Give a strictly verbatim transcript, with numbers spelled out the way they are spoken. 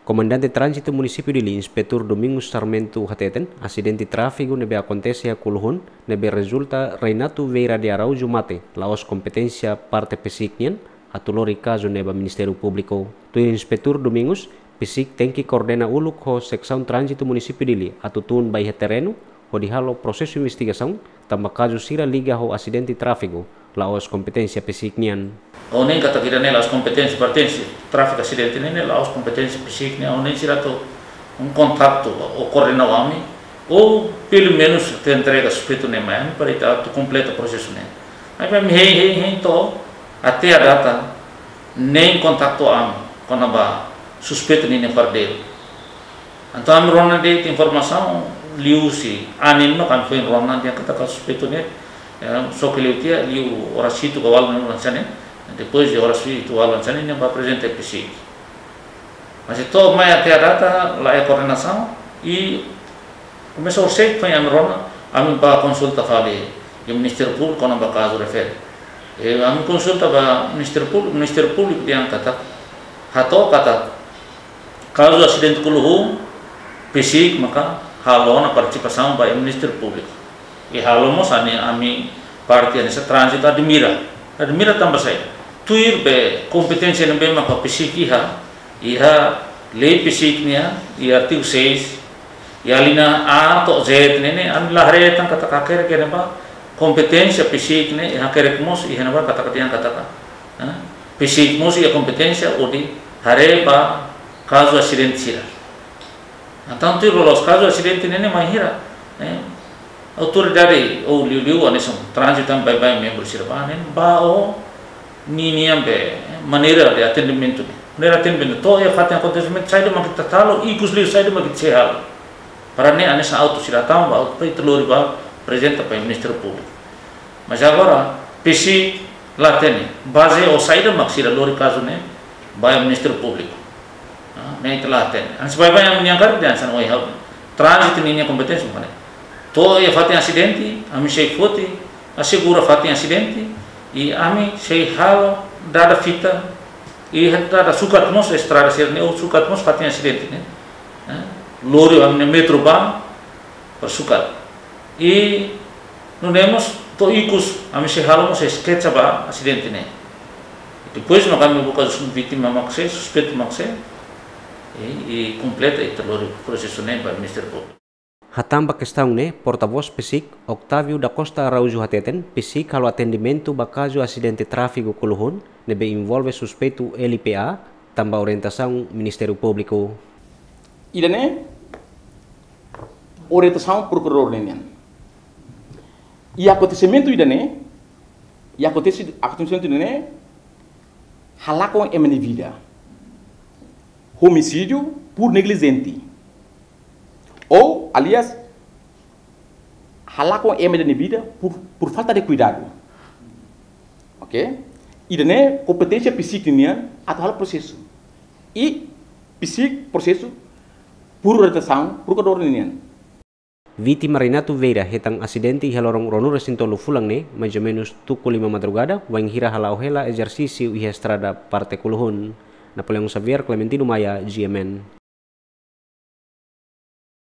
Komandante Tránzitu Munisípiu Dili, Inspetór Domingos Sarmento hateten, asidente tráfegu ne'ebé akontese iha Kuluhun, ne'ebé rezulta Reinato Vieira de Araújo mate, la'ós kompeténsia parte PCIC nian, atu lori kazu ne'e ba Ministériu Públiku. Tuir Inspetór Domingos, PCIC tenke koordena uluk ho Seksaun Tránzitu Munisípiu Dili, atu tun ba iha terrenu, hodi halo prosesu investigasaun, tanba kazu sira liga ho asidente tráfegu, la'ós kompeténsia PCIC nian. Ha'u hanoin katak ida-ne'e la'ós kompeténsia, pertense, tráfegu asidente ne'e, ne'e la'ós kompeténsia PCIC nian, ha'u hanoin sira atu kontaktu ou koordena ho ami, ou pelumenus atu entrega suspeitu ne'e mai ami para ita atu kompleta prosesu ne'e. Maibé ami hein, hein, hein to'o, até à data, nein kontaktu ami, kona-ba suspeitu ninia paradeiru. Entaun ami rona de'it informasaun liuhusi anin mak ami foin rona dehan katak suspeitu ne'e, eh, só ke liu tiha, liu oras hitu ka ualu hanesan ne'e, depois de oras hitu ualu hanesan ne'e, nia bá aprezenta PCIC. Mas to'o mai até à data, laiha koordenasaun, i komesa orsida foin ami rona, ami bá konsulta fali iha Ministériu Públiku kona-ba kazu refere. I ami konsulta ba Ministériu Públiku, Ministériu Públiku dehan katak, hato'o katak, kazu asidente Kuluhun, PCIC maka halo ona partisipasaun ba iha Ministériu Públiku. I halo mós ami, ami parte hanesan tránzitu admira. Admira tanba saida? Tuir be kompeténsia ne'ebé maka PCIC iha, iha lei PCIC nian, iha artigu seis, iha alínea A to'o Z ne'e, ne'e, ami la haree tan katak hakerek iha ne'ebá, kompeténsia PCIC ne'e, iha hakerek mós, iha ne'ebá katak dehan katak, eh, PCIC mós iha kompeténsia hodi haree ba kazu asidente sira. Entaun tuir loloos kazu asidente ne'e, ne'e mai hira, eh, autoridade ou liuliu hanesan tránzitu tan baibain membru sira bá, ne'e, bá ho ninian be, eh, maneira de atendimentu ne'e. Maneira atendimentu, to'o iha fatin akontesimentu, saida mak ita halo, ikus liu saida mak ita sei halo. Para ne'e hanesan autu sira tama ba, autu para ita lori bá aprezenta ba Ministériu Públiku. Mas agora, PCIC la hatene, baze ho saida mak sira lori kazu ne'e ba iha Ministériu Públiku. Ah, ne'e ita la hatene. Hanesan baibain ami-nian karik dehan hanesan ohin ha'u. Tránzitu ninia kompeténsia mak ne'e. To'o iha fatin asidente, ami sei foti, asegura fatin asidente, i ami sei halo dada fita, i dada sukat mós estrada sira-ne'e, ou sukat mós fatin asidente ne'e. Eh, lori ami-nia metru bá, para sukat. I nune'e mós to'o ikus, ami sei halo mós sketsa ba asidente ne'e. Depois mak ami buka vítima mak sé, suspeitu mak sé, i, i kompleta ita lori prosesu ne'e ba Ministériu Públiku. Hatán ba kestaun ne'e, portavós PCIC, Octávio da Costa Araújo hateten, PCIC halo atendimentu ba kazu asidente tráfegu Kuluhun, ne'ebé envolve suspeitu L P A, tanba orientasaun Ministériu Públiku. Ida-ne'e orientasaun prokuradór ninian. I akontesimentu ida-ne'e, i akontesi-, akontesimentu ida-ne'e halakon ema nia vida. Homicídio por negligência. Ou, aliás, halakon ema nia vida por, por falta de cuidado. Ok? Ida-ne'e kompeténsia PCIC nian atu halo prosesu. I PCIC prosesu por orientasaun prokuradór ninian. Vítima Renato Vieira hetan asidente iha loron ruanulu-resin-tolu fulan ne'e, mais ou menus tuku lima madrugada, wainhira hala'o hela ezersísiu iha estrada parte Kuluhun. Napoleão Xavier, Clementino Maia, G M N.